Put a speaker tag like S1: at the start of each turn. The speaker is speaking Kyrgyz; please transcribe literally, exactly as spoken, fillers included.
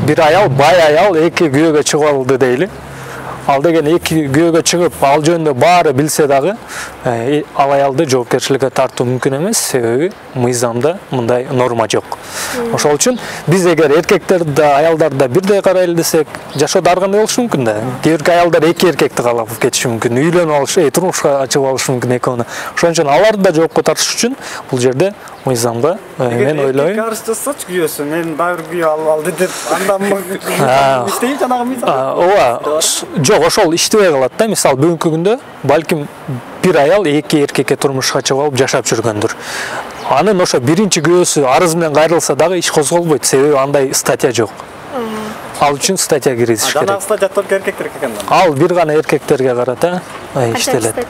S1: бир аял, бай аял эки күйөөгө чыгып алды дейли. Ал деген эки күйөөгө чыгып, ал жөнүндө баары билсе дагы, ал аялды жоопкерчиликке тартуу мүмкүн эмес, себеби мыйзамда мындай норма жок. Ошол үчүн биз эгер эркектерди да, аялдарды да бирдей карайлы десек, жашоодо ар кандай болушу мүмкүн да. Кээ бирки аялдар эки эркекти каалап кетиши мүмкүн, үйлөнүп алышы, турмушка чыгып алышы мүмкүн экөөнү. Ошон үчүн аларды да жоопко тартыш үчүн бул жерде мыйзамда мен ойлойм.
S2: Эгер арыз жазсачы күйөөсү, мен дагы бир күйөө алды деп, андан иштейт жанагы мыйзам.
S1: Ооба, жок, ошол иштебей калат да. Мисалы бүгүнкү күндө балким бир аял эки эркекке турмушка чыгып алып жашап жүргөндүр. Анын ошо биринчи күйөөсү арыз менен кайрылса дагы иш козголбойт, себеби андай статья жок. Ал үчүн статья киргизиш керек.
S2: Жанагы статья только эркектерге экен.
S1: Ал бир гана эркектерге карата иштелет.